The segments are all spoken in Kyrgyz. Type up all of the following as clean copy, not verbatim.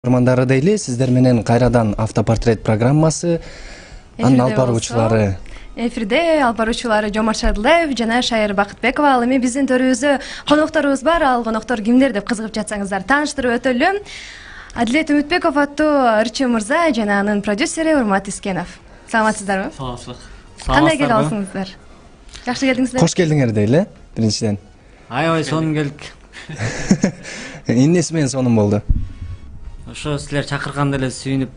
Урмандары дейли, сиздер менен кайрадан автопортрет программасы, анын алып баруучулары. Эфирде алып баруучулары Жомарт Шадылдаев жана Шайыр Бакытбекова. Ал эми биздин төрүбүздө конокторубуз бар. Ал коноктор кимдер деп кызыгып жатсаңыздар тааныштырып өтөлү. Адилет Үмүтбеков аттуу ырчы мырза жана анын продюсери Урмат Искенов. Саламатсыздарбы? Саламатсызбык. Кандай келип алсыңыздар? Жакшы келдиңиздер? Кош келдиңер дейли, биринчиден. Аябай сонун келдик. Эмнеси менен сонун болду? Ошо силер чакырганда эле сүйүнүп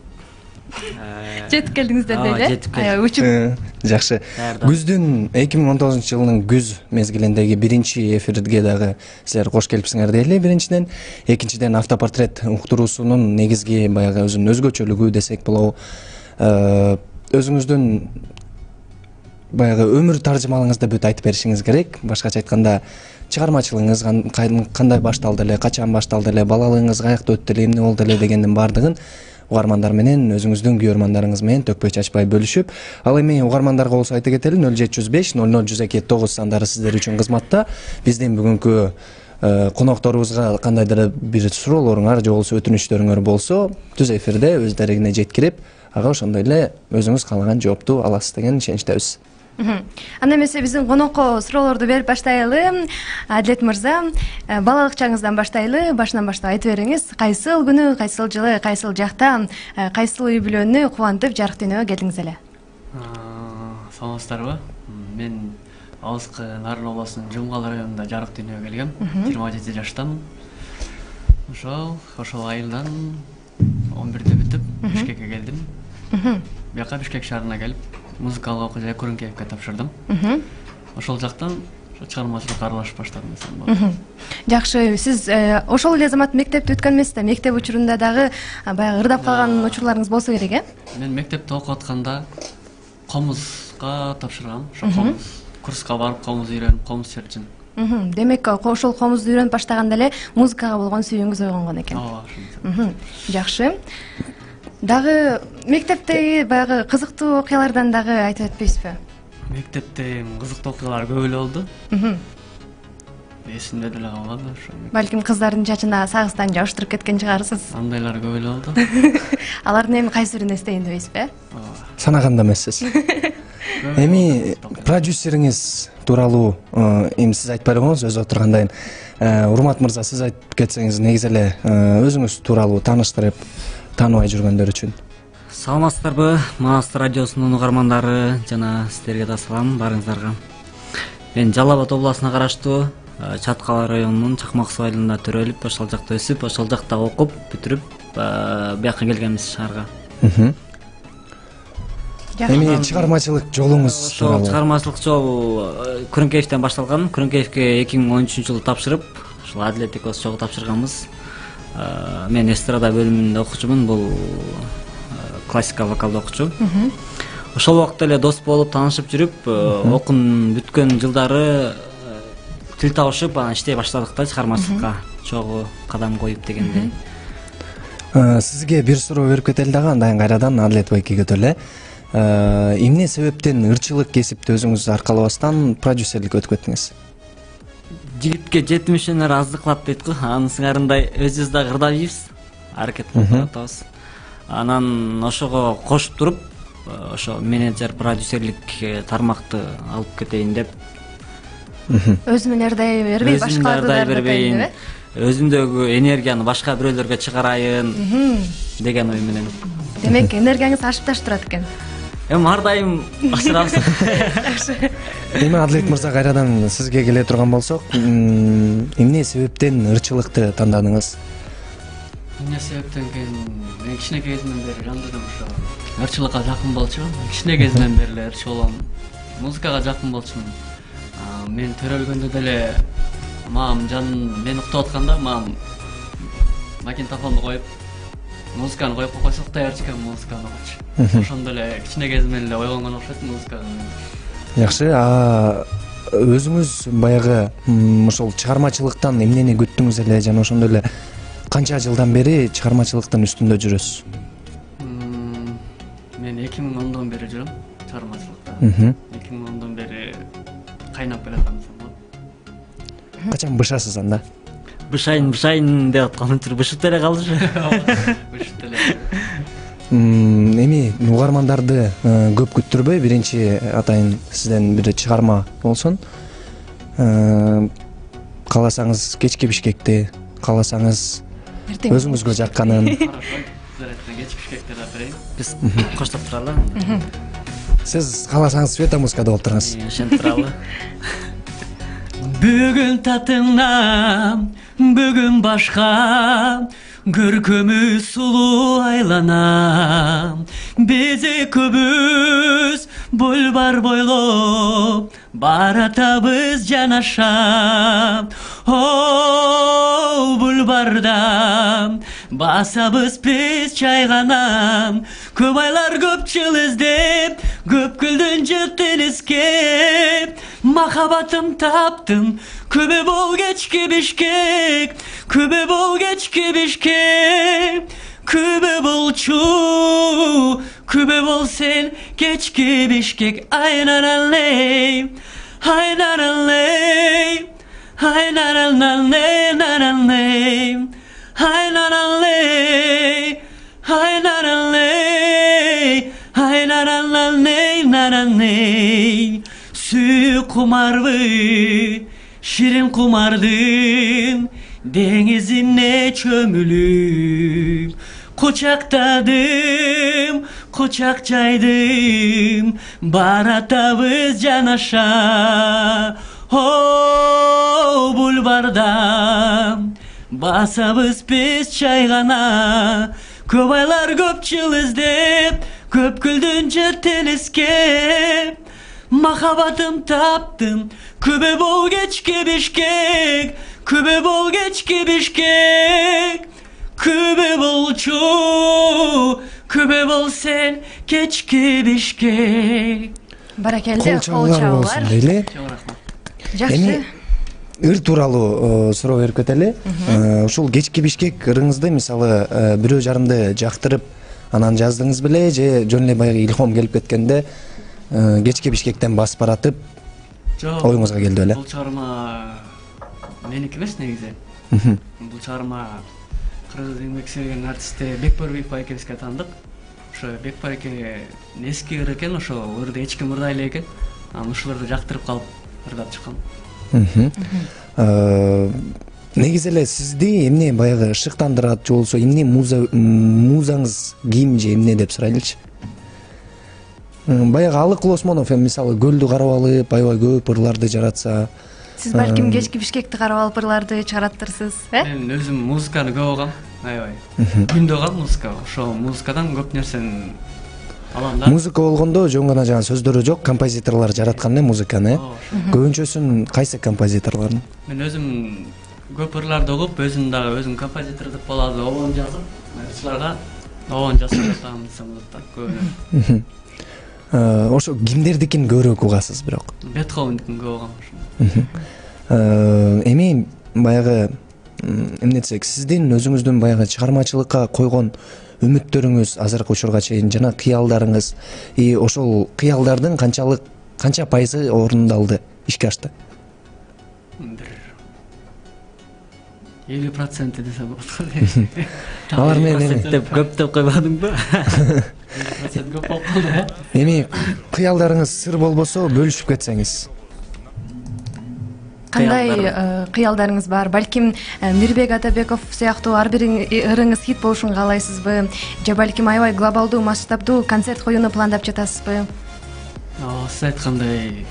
жетип келдиңиздер дейли. Жетип келдик. Учуп. Жакшы. Күздүн 2019-жылдын күз мезгилиндеги биринчи эфирге дагы силер кош келипсиңер дейли, биринчиден. Экинчиден автопортрет уктуруусунун негизги баягы өзүнүн өзгөчөлүгү десек болобу. Өзүңүздүн баягы өмүр таржымалыңызды бүт айтып беришиңиз керек. Башкача айтканда, чыгармачылыгыңыз кандай башталды эле, качан башталды эле, балалыгыңыз каякта өттү эле, эмне болду эле дегендин баардыгын угармандар менен, өзүңүздүн күйөрмандарыңыз менен төкпөй чачпай бөлүшүп, ал эми угармандарга болсо айта кетели, 0705 00 102 9 сандары сиздер үчүн кызматта. Биздин бүгүнкү конокторубузга кандайдыр бир суроолоруңар же болбосо өтүнүчтөрүңөр болсо, түз эфирде өздөрүнө жеткирип, ага ошондой эле өзүңүз каалаган жоопту аласыз деген ишеничтебиз. Анда эмесе биздин конокко суроолорду берип баштайлы. Адилет мырза, балалык чагыңыздан баштайлы. Башынан баштап айтып бериңиз, кайсыл күнү, кайсыл жылы, кайсыл жакта, кайсыл үй бүлөнү кубантып жарык дүйнөгө келдиңиз эле? Саламатсыздарбы? Мен Алыскы Нарын областынын Жумгал районунда жарык дүйнөгө келгем. 27 жаштамын. Ошол айылдан 11-де бүтүп Бишкекке келдим. Бияка Бишкек шаарына келип музыкалык окуу Күрүнкеевке тапшырдым. Ошол жактан чыгармачылыкка аралашып баштадым десем болот. Жакшы, сиз ошол эле замат мектепти бүткөн эмессиз да? Мектеп учурунда дагы баягы ырдап калган учурларыңыз болсо керек, Мен мектепте окуп атканда комузга тапшыргам. Ошо курска барып комуз үйрөнүп, комуз чертчүмүн. Демек, ошол комузду үйрөнүп баштаганда эле музыкага болгон сүйүүңүз ойгонгон экен. Ошо. Жакшы. Дагы мектептеги баягы кызыктуу окуялардан дагы айтып өтпөйсүзбү? Мектепте кызыктуу окуялар көп эле болду. Эсимде деле калбады ошо. Балким кыздардын чачына сагыстан жабыштырып кеткен чыгарсыз. Андайлар көп эле болду. Алардын эми кайсы бирин эстейин дебейсизби? Санаганда эмессиз. Эми продюсериңиз тууралуу эми сиз айтпай койгоңуз, өзү отургандайын. Урмат мырза, сиз айтып кетсеңиз негизи эле өзүңүз тууралуу тааныштырып, тааныбай жүргөндөр үчүн. Саламатсыздарбы? Манас радиосунун угармандары жана сиздерге да салам барыңыздарга. Мен Жалал Абад областына караштуу Чаткал районунун Чакмак суу айылында төрөлүп, ошол жакта өсүп, ошол жакта окуп, бүтүрүп, бияка келгенбиз шаарга. Эми чыгармачылык жолуңуз тууралуу. Ошол чыгармачылык жол Күрүнкеевден башталган. Күрүнкеевке 2013-жылы тапшырып, ошол Адилет экөөбүз чогуу тапшырганбыз. Мен эстрада бөлүмүндө окуучумун, бул классика вокалды окуучу. Ошол убакта эле дос болуп, таанышып жүрүп, окуун бүткөн жылдары тил табышып, анан иштей баштадык да чыгармачылыкка чогуу кадам коюп дегендей. Сизге бир суроо берип кетели дагы, андан кайрадан Адилет байкеге өтөлү. Эмне себептен ырчылык кесипти өзүңүз аркалабастан продюсерликке өтүп кеттиңиз? Жигитке жетимишенер аздык кылат дейт го. Анын сыңарындай өзүбүз дагы ырдап ийбиз, аракет кылып атабыз. Анан ошого кошуп туруп, ошо менеджер продюсерлик тармакты алып кетейин деп. Өзүмөн ырдай бербей, башкаларды да ырдатайын деп. Өзүмдөгү энергияны башка бирөөлөргө чыгарайын деген ой менен. Демек, энергияңыз ашып ташып турат экен. Эми ар дайым ашырабыз. Эми Адилет мырза, кайрадан сизге келе турган болсок, эмне себептен ырчылыкты тандадыңыз? Эмне себептен мен кичине кезимден бери жандырдым ошо. Ырчылыкка жакын болчумун. Кичине кезимден бери эле ырчы болом. Музыкага жакын болчумун. Мен төрөлгөндө деле мамам мен уктап атканда мамам магнитофонду коюп, музыканы коюп койсок да ырчыкен музыканы окучу. Ошондо эле кичине кезимден эле ойгонгон окшойт музыкага. Жакшы, өзүңүз баягы ошол чыгармачылыктан эмнени күттүңүз эле жана ошондой эле канча жылдан бери чыгармачылыктын үстүндө жүрөсүз? Мен 2010дон бери жүрөм чыгармачылыкта. 2010дон бери кайнап келаткан десем болот. Качан бышасыз анда? бышайын деп аткан үчүн бышып деле калды. Эми угармандарды көп күттүрбөй биринчи атайын сизден бир чыгарма болсун. Кааласаңыз кечки Бишкекти, кааласаңыз өзүңүзгө жакканын. Кечки Бишкекти да берейин. Биз коштоп туралы. Сиз кааласаңыз Светомускада болуп туруңуз. Ошентип туралы. Бүгүн татыңнан, бүгүн башка, көркөмү сулуу айланам. Биз экөөбүз бульбар бойлоп баратабыз жанаша. О, бульбарда басабыз биз чайганам. Көп айлар көп жыл издеп, көп күлдүн жыттын искеп. Махабатым таптым, күбө бол кечки Бишкек, күбө бол кечки Бишкек. Күбө болчу, күбө бол сен кечки Бишкек. Айнаралей, айнаралей, айнаралей, айнаралей, айнаралей, айнаралей, айнаралей, айнаралей. Сүйүк кумарбы, ширин кумардын деңизине чөмүлүп. Кучактадым, кучак жайдым, баратабыз жанаша. О, бульбарда басабыз биз чайгана. Көп айлар көп жыл издеп, көп күлдүн жыттын искеп. Махабатым таптым, күбө бол кечки Бишкек, күбө бол кечки Бишкек. Күбө болчу, күбө бол сен кечки Бишкек. Баракелде, кол болсун чабуулар. дейли. Жакшы. Эми ыр тууралуу суроо берип кетели. Ушул кечки Бишкек ырыңызды мисалы бирөө жарымды жактырып анан жаздыңыз беле же жөн эле баягы илхом келип кеткенде кечки Бишкектен басып баратып оюңузга келди беле? Бул чыгарма меники эмес негизи. Бул чыгарма кыргыз эмгек сүйгөн артисти Бекборбиев экебизге таандык. Ошо Бекбор эке эски ыр экен, ошо ырды эч ким ырдай эле экен. Анан ушуларды жактырып калып ырдап чыккан. Негизи эле сизди эмне баягы шыктандырат же болбосо эмне музаңыз ким же эмне деп сурайлычы? Баягы Алык Лосмонов мисалы көлдү карап алып, аябай көп ырларды жаратса, Сиз балким кечки Бишкекти карап алып ырларды чыгараттырсыз, Мен өзүм музыканы көп угам, аябай. Күндө угам музыка. Ошо музыкадан көп нерсени алам да. Музыка болгондо жөн гана жана сөздөрү жок, композиторлор жараткан эле музыканы. Көбүнчөсүн кайсы композиторлордун? Мен өзүм көп ырларды угуп, өзүм дагы өзүм композитор деп болот, обон жазып, ырчыларга обон жазып жатам десем болот да. Көбүнө. Ошо кимдердикин көбүрөөк угасыз бирок? Бетховендикин көп угам. Эми баягы эмне десек, сиздин өзүңүздүн баягы чыгармачылыкка койгон үмүттөрүңүз азыркы учурга чейин жана кыялдарыңыз, ошол кыялдардын канча пайызы орундалды, ишке ашты? 50% десе болот. Алар менен Деп көп деп койбодуңбу? 50% көп болуп калды. эми кыялдарыңыз сыр болбосо бөлүшүп кетсеңиз. Кандай кыялдарыңыз бар? Балким Мирбек Атабеков сыяктуу ар бир ырыңыз хит болушун каалайсызбы? Же балким аябай глобалдуу масштабдуу концерт коюуну пландап жатасызбы? Сиз айткандай,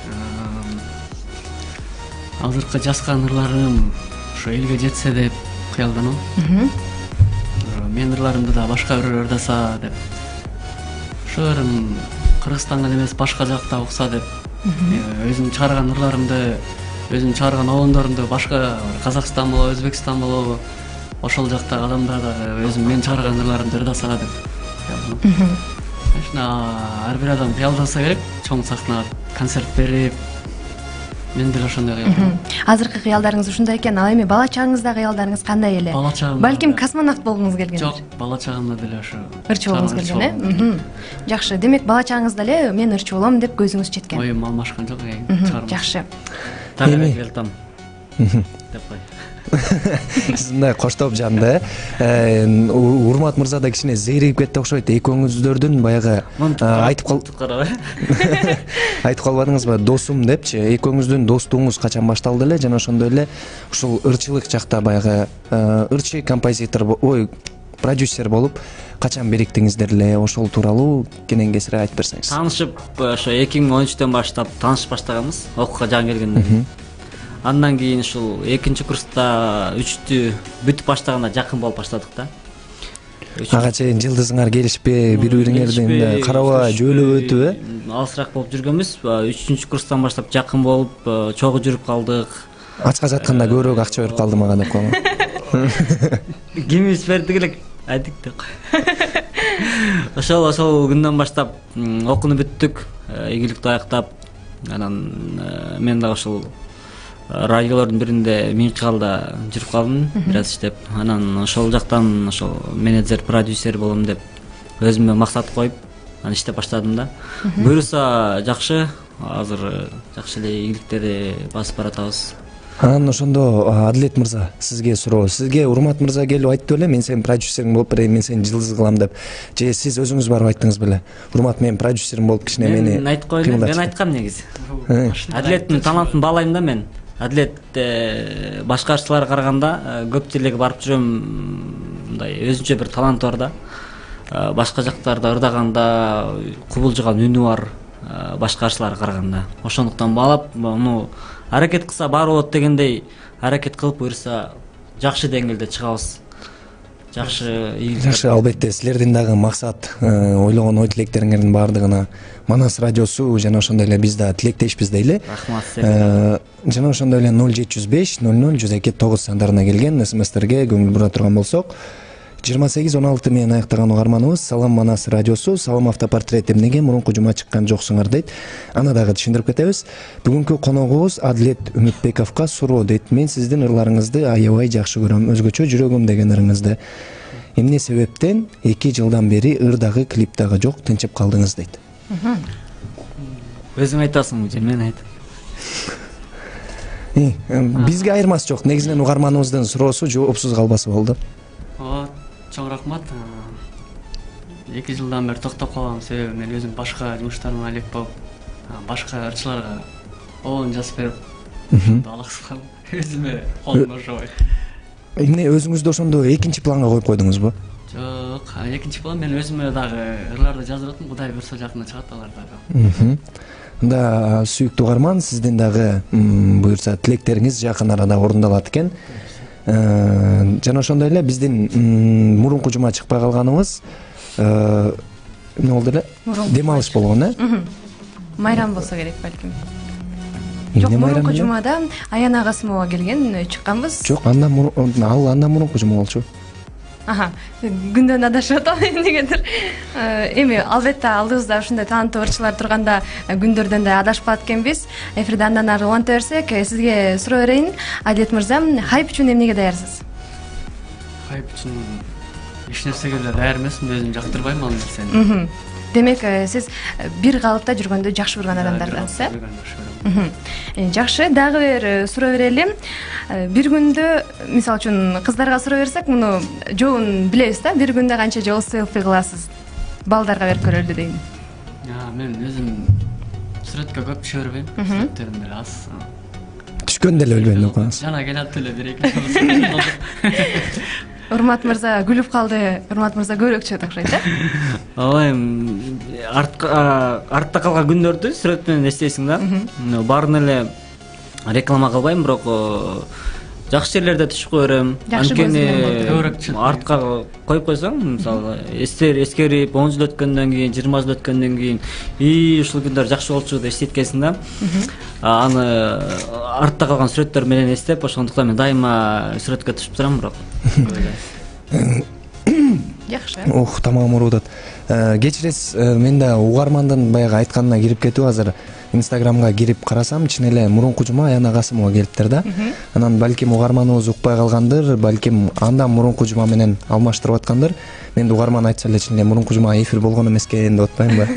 азыркы жазган ырларым ошо элге жетсе деп кыялданам. Менин ырларымды да башка бирөө ырдаса деп. Ошо ырым Кыргызстанга эмес башка жакта укса деп. Өзүм чыгарган ырларымды, өзүм чыгарган обондорумду башка Казакстан болобу, Өзбекстан болобу, ошол жактагы адамдар дагы өзүм мен чыгарган ырларымды ырдаса деп. Ар бир адам кыялдаса керек, чоң сахнага концерт берип, мен деле ошондой кыялдайм. Азыркы кыялдарыңыз ушундай экен, ал эми бала чагыңыздагы кыялдарыңыз кандай эле? Бала чагымда Балким космонавт болгуңуз келген. Жок, бала чагымда деле ошо Ырчы болгуңуз келген, Жакшы. Демек бала чагыңызда эле мен ырчы болом деп көзүңүз жеткен. оюм алмашкан жок, Жакшы. Тарыга келтам. деп кой. Сиз мындай коштоп жанды. Урмат мырза да кичине зейрейип кетти окшойт. Экөөңүздөрдүн баягы айтып калбадыңызбы, досум депчи? Экөөңүздүн достугуңуз качан башталды эле жана ошондой эле ушул ырчылык жакта баягы ырчы композитор, продюсер болуп качан бириктиңиздер эле? Ошол тууралуу кенен кесире айтып берсеңиз. Таанышып ошо 2013 баштап таанышып баштаганбыз, окууга жан келгенден кийин. Андан кийин ушул 2-курста 3-тү бүтүп баштаганда жакын болуп баштадык да. Ага чейин жылдызыңар келишпей, бири-бириңердин карабай, жөөлөп өтүп, алысыраак болуп жүргөнбүз. 3-курстан баштап жакын болуп, чогуу жүрүп калдык. Ачка жатканда көбүрөөк акча берип калды мага деп койгон. Кимибиз бердик элек айдык деп кой. Ошол күндөн баштап окууну бүттүк, ийгиликти аяктап, анан мен да ошол радиолордун биринде Миңкалда жүрүп калдым, бир аз иштеп. Анан ошол жактан ошол менеджер, продюсер болом деп өзүмө максат коюп, анан иштеп баштадым да. Буюрса жакшы, азыр жакшы эле ийгиликтерди басып баратабыз. Анан ошондо Адилет мырза, сизге суроо. Сизге Урмат мырза келип айтты беле, мен сенин продюсериң болуп берейин, мен сени жылдыз кылам деп. Же сиз өзүңүз барып айттыңыз беле? Урмат менин продюсерим болуп кичине мени. Мен айтып коелу, мен айткам негизи. Адилеттин талантын баалайм да мен. Адилет башка ырчыларга караганда көп жерлерге барып жүрөм, мындай өзүнчө бир таланты бар да. Башка жактарда ырдаганда кубулжуган үнү бар, башка ырчыларга караганда. Ошондуктан баалап, муну аракет кылса баары болот дегендей аракет кылып, буюрса жакшы деңгээлде чыгабыз. Жакшы, албетте силердин дагы максат, ойлогон ой тилектериңердин баардыгына Манас радиосу жана ошондой эле биз да тилектешпиз дейли. Рахмат сизге. Жана ошондой эле 0705 00 102 сандарына келген СМСтерге көңүл бура турган болсок, 28-16 менен аяктаган угарманыбыз Салам Манас радиосу, салам автопортрет эмнеге мурунку жума чыккан жоксуңар дейт. Аны дагы түшүндүрүп кетебиз. Бүгүнкү коногубуз Адилет Үмүтбековго суроо дейт. Мен сиздин ырларыңызды аябай жакшы көрөм, өзгөчө жүрөгүм деген ырыңызды. Эмне себептен 2 жылдан бери ыр дагы клип дагы жок, тынчып калдыңыз дейт. Өзүң айтасыңбы же мен айтам? Бизге айырмасы жок. Негизинен угарманыбыздын суроосу жоопсуз калбасы болду. Чоң рахмат. 2 жылдан бери токтоп калган себеби мен өзүм башка жумуштарыма элек болуп, башка ырчыларга оон жазып берип, алаксып өзүмө колум ошобой. Эмне өзүңүздү ошондо экинчи планга коюп койдуңузбу? Жок, экинчи план мен өзүмө дагы ырларды жазып атам, Кудай буйрса жакында чыгат алар дагы. Мында сүйүктүү угарман, сиздин дагы буюрса тилектериңиз жакын арада орундалат экен. Жана ошондой эле биздин мурунку жума чыкпай калганыбыз эмне болду эле? Дем алыш болгон, Майрам болсо керек балким. Жок, мурунку жумада Аяна Касымова келген, чыкканбыз. Жок, андан мурунку жума болчу. Күндөн адашып атам эмнегедир. Эми албетте алдыбызда ушундай таланттуу ырчылар турганда күндөрдөн да адашпат экенбиз. Эфирде андан ары уланта берсек, сизге суроо берейин. Адилет мырза, хайп үчүн эмнеге даярсыз? Хайп үчүн эч нерсеге эле даяр эмесмин, өзүм жактырбайм ал нерсени. Демек, сиз бир калыпта жүргөндү жакшы көргөн адамдардансыз, Жакшы, дагы бир суроо берели. Бир күндө, мисалы үчүн, кыздарга суроо берсек, муну жообун билебиз да, бир күндө канча жолу селфи кыласыз? Балдарга берип көрөлү дейм. Мен өзүм сүрөткө көп түшө бербейм, сүрөттөрүм деле аз. Түшкөндө эле билбейм деп коесуз. Жана келат эле бир-эки жолу. Урмат мырза күлүп калды. Урмат мырза көбүрөөк чыгат окшойт, Ооба, артта калган күндөрдү сүрөт менен эстейсиң да. Баарын эле реклама кылбайм, бирок жакшы жерлерде түшүп кое берем. Анткени артка коюп койсоң, мисалы, эскерип 10 жыл өткөндөн кийин, 20 жыл өткөндөн кийин, ушул күндөр жакшы болчу деп эстейткенсиң да. Аны артта калган сүрөттөр менен эстеп, ошондуктан мен дайыма сүрөткө түшүп турам, бирок. Жакшы. Тамам оорудат. Кечиресиз, мен да угармандын баягы айтканына кирип кетип, азыр Инстаграмга кирип карасам, чын эле мурунку жума Аяна Касымова келиптир да. Анан балким угарманыбыз укпай калгандыр, балким андан мурунку жума менен алмаштырып аткандыр. Мен да угарман айтса эле чын эле мурунку жума эфир болгон эмес экен деп атпаймынбы?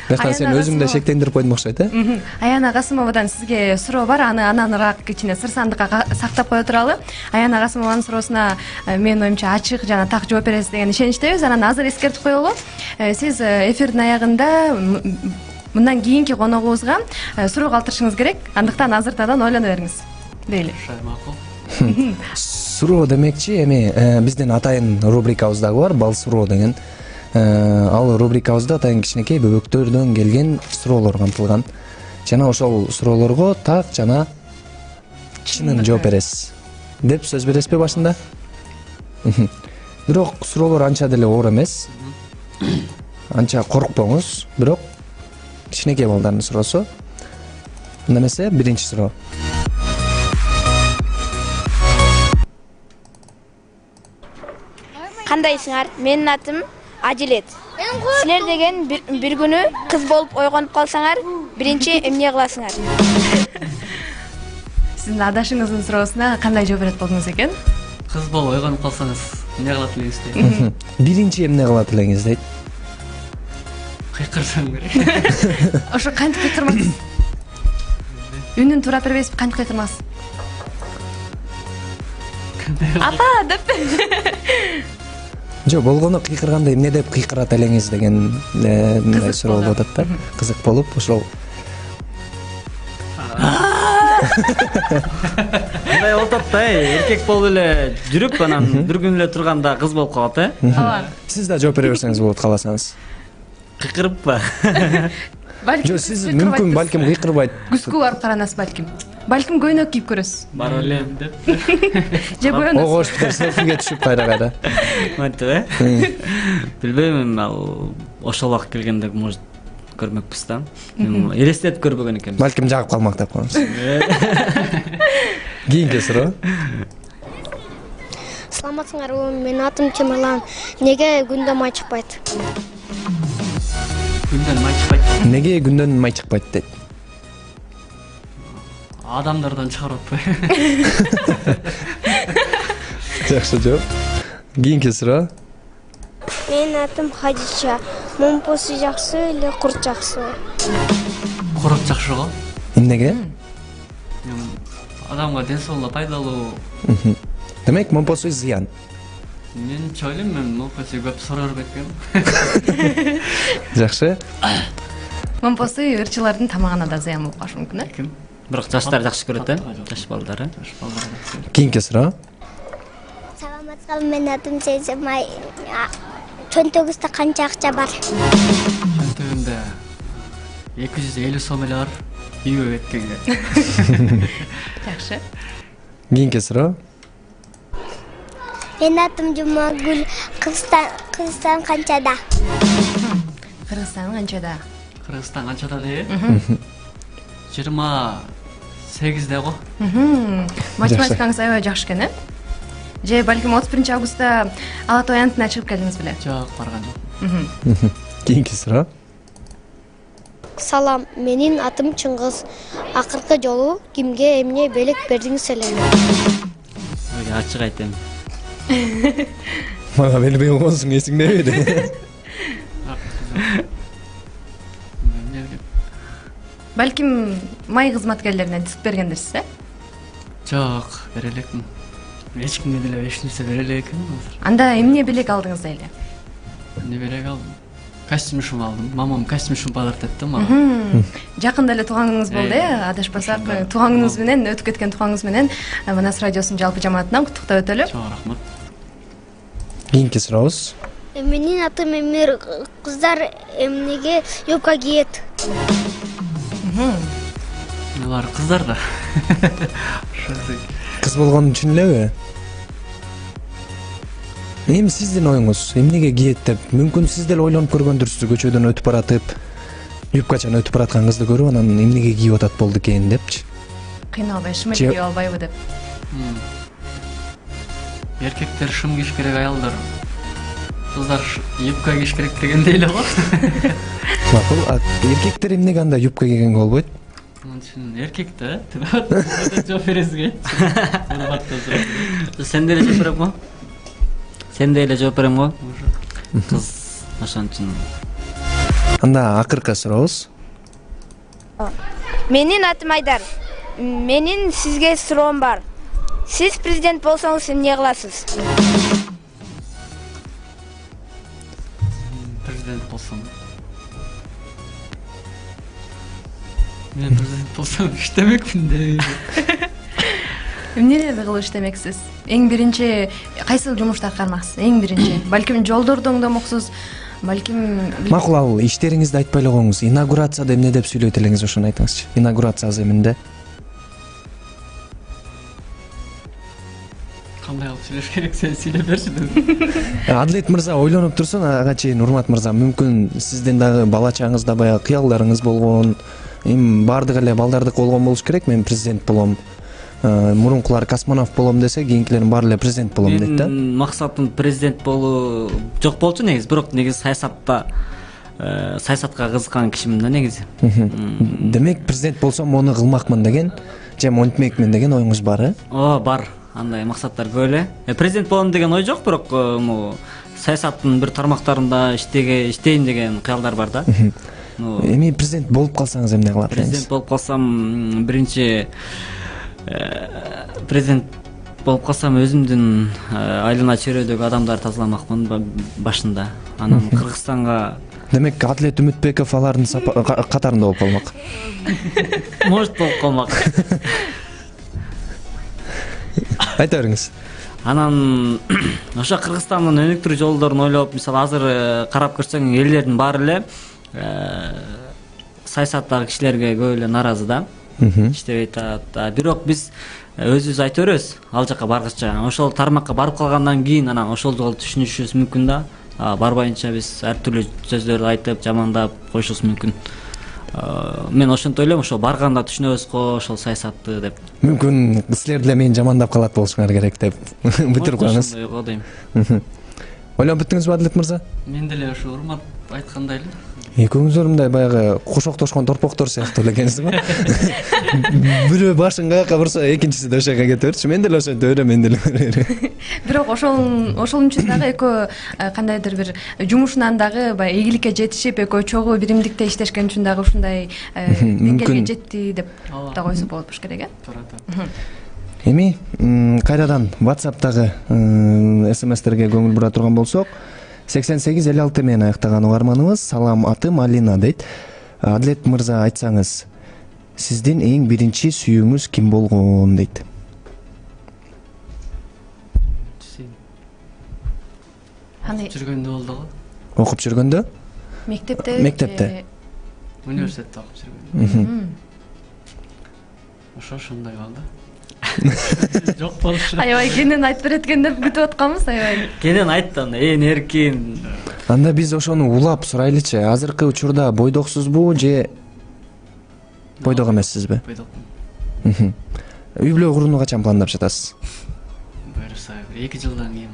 Башка сен өзүң да шектендирип койдуң окшойт, э? Аяна Касымовадан сизге суроо бар, аны ананыраак кичине сырсандыкка сактап кое туралы. Аяна Касымованын суроосуна менин оюмча ачык жана так жооп бересиз деген ишеничтебиз. Анан азыр эскертип коелу. Сиз эфирдин аягында мындан кийинки коногубузга суроо калтырышыңыз керек. Андыктан азыртадан ойлоно бериңиз. Дейли. Макул. Суроо демекчи, эми биздин атайын рубрикабыз дагы бар, бал суроо деген. Ал рубрикабызда атайын кичинекей бөбөктөрдөн келген суроолор камтылган. Жана ошол суроолорго так жана чынын жооп бересиз деп сөз бересизби башында? Бирок суроолор анча деле оор эмес. Анча коркпоңуз, бирок кичинекей балдардын суроосу. Мында эмесе, биринчи суроо. Кандайсыңар? Менин атым Адилет. Силер деген бир күнү кыз болуп ойгонуп калсаңар, биринчи эмне кыласыңар? Сиздин адашыңыздын суроосуна кандай жооп берет болдуңуз экен? Кыз болуп ойгонуп калсаңыз эмне кылат элеңиз дейт. Биринчи эмне кылат элеңиз дейт. Кыйкырсам керек. Ошо кантип кыйкырмаксыз? Үнүн туура бербейсизби? Кантип кыйкырмаксыз? Ата деп. Жок, болгону кыйкырганда эмне деп кыйкырат элеңиз деген мындай суроо болуп атат да. Кызык болуп, ошол. Мындай болуп атат да, эркек болуп эле жүрүп, анан бир күн эле турганда кыз болуп калат, э? Ооба. Сиз да жооп бере берсеңиз болот кааласаңыз. Кыйкырыппы? Жок, сиз мүмкүн балким кыйкырбайт. Күзгү барып каранасыз балким. Балким көйнөк кийип көрөсүз. Барып элем деп. Же боёносуз. Огоштук селфиге түшүп кайра. Мынтип, э? Билбейм, ал ошол убакыт келгенде может көрмөкпүз да. Элестетип көрбөгөн экенбиз. Балким жагып калмак деп коебуз. Кийинки суроо. Саламатсыңарбы? Менин атым Темирлан. Неге күндө май чыкпайт? Күндөн май чыкпайт. Неге күндөн май чыкпайт дейт? Адамдардан чыгарып атпайбы? Жакшы жооп. Кийинки суроо. Менин атым Хадича. Момпосу жакшы эле курт жакшыбы? Курут жакшы го. Эмнеге? Адамга ден соолугуна пайдалуу. Демек, момпосу зыян. Менче ойлойм, мен момпосу көп суроо бербекмин. Жакшы. Момпосу ырчылардын тамагына да зыян болуп калышы мүмкүн, э? Бирок жаштар жакшы көрөт, э? Жаш балдар, э? Кийинки суроо. Саламатсызбы? Менин атым Сейземай. Чөнтөгүздө канча акча бар? Чөнтөгүмдө 250 сом эле бар. Үйгө кеткенге. Жакшы. Кийинки суроо. Менин атым Жумагүл. Кыргызстан канчада? Кыргызстан канчада? Кыргызстан канчада дейби? 28-де го. Математикаңыз аябай жакшы экен, э? Же балким 31 августта Ала Тоо аянтына чыгып келдиңиз беле? Жок, барган жок. Кийинки суроо. Салам, менин атым Чыңгыз. Акыркы жолу кимге эмне белек бердиңиз эле? Ачык айтайын. Мага бербей койгонсуң, эсиңдеби? Балким май кызматкерлерине диск бергендирсиз, э? Жок, бере элекмин. Эч кимге деле эч нерсе бере элекмин азыр. Анда эмне белек алдыңыз эле? Эмне белек алдым? Костюм шум алдым. Мамам костюм шум подарок этти мага. Жакында эле тууган күнүңүз болду, э? Адашпасак, тууган күнүңүз менен, өтүп кеткен тууган күнүңүз менен Манас радиосунун жалпы жамаатынан куттуктап өтөлү. Чоң рахмат. Кийинки сурообуз. Менин атым Эмир. Кыздар эмнеге юбка кийет? Алар кыздар да. Кыз болгон үчүн элеби? Эми сиздин оюңуз эмнеге кийет деп, мүмкүн сиз деле ойлонуп көргөндүрсүз, көчөдөн өтүп баратып, юбкачан өтүп бараткан кызды көрүп, анан эмнеге кийип атат болду экен депчи. Кыйналбай, шымыр кийип албайбы деп. Эркектер шым кийиш керек, аялдар кыздар юбка кийиш керек дегендей эле го. Макул, эркектер эмнеге анда юбка кийгенге болбойт? Эркек да, жооп бересизге. Сен деле жооп берем го? Сен деле жооп берем го? Кыз ошон үчүн Анда акыркы сурообуз. Менин атым Айдар. Менин сизге суроом бар. Сиз президент болсоңуз эмне кыласыз? Президент болсом. Мен президент болсом иштемекмин деп. Эмнелерди кылып иштемексиз? Эң биринчи кайсыл жумушту аткармаксыз? Эң биринчи. Балким жолдорду оңдомоксуз, балким Макул, ал иштериңизди айтпай эле коюңуз. Инаугурацияда эмне деп сүйлөйт элеңиз, ошону айтыңызчы. Инаугурация аземинде. Кандай кылып сүйлөш керек, сен сүйлөп берчи. Адилет мырза ойлонуп турсун, ага чейин Урмат мырза, мүмкүн сиздин дагы бала чагыңызда баягы кыялдарыңыз болгон, эми баардык эле балдардык болгон болуш керек. Мен президент болом, мурункулар космонавт болом десе, кийинкилердин баары эле президент болом дейт да. Максатым президент болуу жок болчу негизи, бирок негизи саясатка кызыккан кишимин да негизи. Демек президент болсом муну кылмакмын деген же монтмекмин деген оюңуз бар, Ооба, бар. Андай максаттар көп эле. Президент болом деген ой жок, бирок саясаттын бир тармактарында иштейм деген кыялдар бар да. Эми президент болуп калсаңыз эмне кылат элеңиз? Президент болуп калсам, биринчи президент болуп калсам өзүмдүн айлана чөйрөдөгү адамдарды тазаламакмын башында. Анан Кыргызстанга Демек Адилет Үмүтбеков алардын катарында болуп калмак. Может болуп калмак. Айта бериңиз. Анан ошо Кыргызстандын өнүктүрүү жолдорун ойлоп, мисалы азыр карап көрсөң, элдердин баары эле саясаттагы кишилерге көп эле нааразы да. Иштебейт атат. Бирок биз өзүбүз айта беребиз ал жака баргыча. Ошол тармакка барып калгандан кийин анан ошол жолу түшүнүшүбүз мүмкүн да. Барбайынча биз ар түрлүү сөздөрдү айтып, жамандап коюшубуз мүмкүн. Мен ошентип ойлойм, ошо барганда түшүнөбүз го ошол саясатты деп. Мүмкүн силер деле мени жамандап калат болушуңар керек деп бүтүрүп коюңуз. Ошондой дейм. Ойлонуп бүттүңүзбү Адилет мырза? Мен деле ошо Урмат айткандай эле. Экөөңүздөр мындай баягы кошоктошкон торпоктор сыяктуу эле экенсиз го. Бирөө башын каяка бурса, экинчиси да ошол жака кете берчү. Мен деле ошентип берем, мен деле. бирок ошол үчүн дагы экөө кандайдыр бир жумушунан дагы баягы ийгиликке жетишип, экөө чогуу биримдикте иштешкен үчүн дагы ушундай деңгээлге жетти деп да койсо болот болуш керек, Эми кайрадан WhatsApp'тагы SMS-терге көңүл бура турган болсок, 8856 менен аяктаган угарманыбыз салам, атым Алина дейт. Адилет мырза, айтсаңыз, сиздин эң биринчи сүйүүңүз ким болгон дейт. Жүргөндө болду го. Окуп жүргөндө? Мектепте. Университетте окуп жүргөндө. Ошондой болду. Жок болушу. Аябай кенен айтып берет экен деп күтүп атканбыз, аябай. Кенен айтты, ээн эркин. Анда биз ошону улап сурайлычы. Азыркы учурда бойдоксузбу же бойдок эмессизби? Бойдокмун. Үй бүлө курууну качан пландап жатасыз? Буюрса 2 жылдан кийин.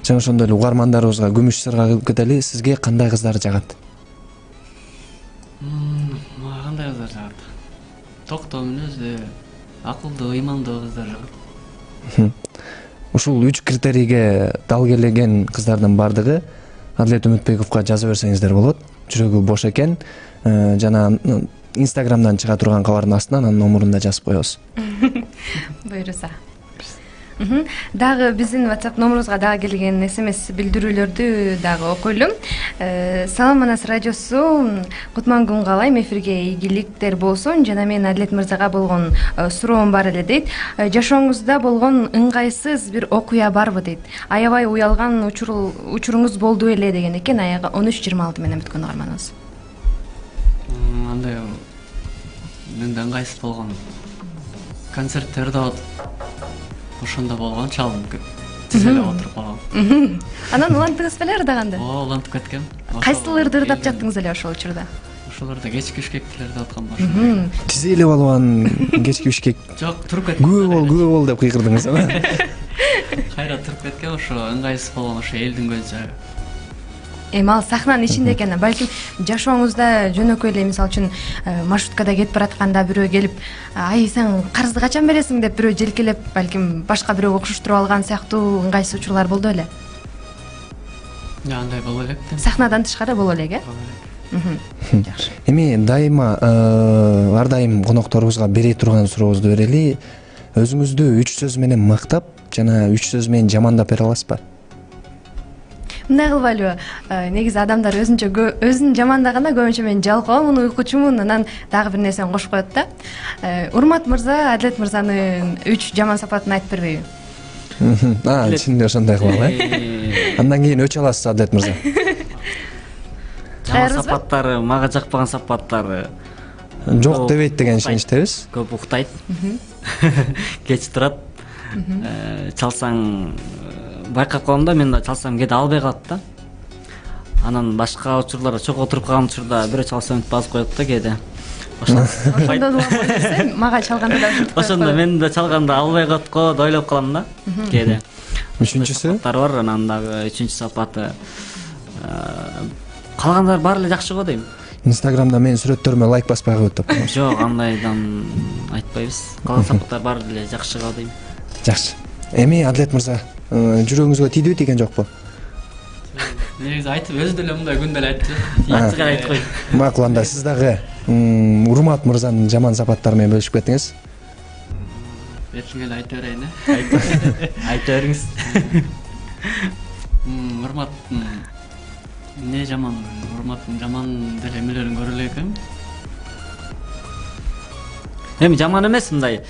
Жана ошондой эле угармандарыбызга күмүш сырга кылып кетели. Сизге кандай кыздар жагат? Мага кандай кыздар жагат? Токтоо мүнөздүү, акылдуу, ыймандуу кыздар жагат. Ушул 3 критерийге дал келген кыздардын бардыгы Адилет Үмүтбековго жаза берсеңиздер болот. Жүрөгү бош экен. Жана Instagramдан чыга турган кабардын астынан анын номерун да жазып коебуз. Буйруса. Дагы биздин WhatsApp номерубузга дагы келген SMS билдирүүлөрдү дагы окуйлум. Салам Манас радиосу, кутман күн каалайм, эфирге ийгиликтер болсун. Жана мен Адилет мырзага болгон суроом бар эле дейт. Жашооңузда болгон ыңгайсыз бир окуя барбы дейт. Аябай уялган учуруңуз болду эле деген экен. Аягы 13:26 менен бүткөн угарманыбыз. Андай менде ыңгайсыз болгон концерттерде ошондо болгон чалым тиз эле отуруп калгам. Анан улантыңыз беле ырдаганда? Улантып кеткем. Кайсыл ырды ырдап жаттыңыз эле ошол учурда? Ошолордо кечки бишкектилерди аткан башым. Тиз эле балбан кечки бишкек. Жок, туруп кеткем. Күбө бол деп кыйкырдыңыз, Кайра туруп кеткем, ошо ыңгайсыз болгон ошо элдин көз жагы. Эми ал сахнанын ичинде экен, балким жашооңузда жөнөкөй эле мисалы үчүн маршруткада кетип баратканда бирөө келип, "Ай, сен карызды качан бересиң?" деп бирөө желкелеп, балким башка бирөөгө окшоштуруп алган сыяктуу ыңгайсыз учурлар болду эле. Андай боло элек. Сахнадан тышкары боло элек, Жакшы. Эми дайыма ар дайым конокторубузга бере турган сурообузду берели. Өзүңүздү 3 сөз менен мактап жана 3 сөз менен жамандап бере аласызбы? Мындай кылбайлыбы? Негизи адамдар өзүн жамандаганда көбүнчө мен жалкоомун, уйкучумун, анан дагы бир нерсени кошуп коет да. Урмат мырза, Адилет мырзанын 3 жаман сапатын айтып бербейби? Чын ошондой кылалы. Андан кийин өчө аласыз, Адилет мырза. Жаман сапаттары, мага жакпаган сапаттары Жок дебейт деген ишеничтебиз. Көп уктайт. Кеч турат. Чалсаң байкап калам да, мен да чалсам кээде албай калат да. Анан башка учурларда чогуу отуруп калган учурда бирөө чалса өтүп басып коет да кээде. Ошондо да мага чалганда да ушинтип коет. Ошондо мен да чалганда албай коет го деп ойлоп калам да кээде. Үчүнчүсү? Сапаттар бар, анан дагы 3-чү сапаты калгандар баары эле жакшы го дейм. Инстаграмда менин сүрөттөрүмө лайк баспай коет деп. Жок, андайдан айтпайбыз. Калган сапаттар баары эле жакшы го дейм. Жакшы. Эми Адилет мырза, жүрөгүңүзгө тийдиби, тийген жокпу? Негизи айтып өзү деле мындай күндө эле айтчу. Ачык айтып кой. Макул, анда сиз дагы Урмат мырзанын жаман сапаттары менен бөлүшүп кетиңиз. Эркин эле айта берейин, э? Айта бериңиз. Урматтын эмне жаман? Урматтын жаман деле эмелерин көрө элек экен. Эми жаман эмес, мындай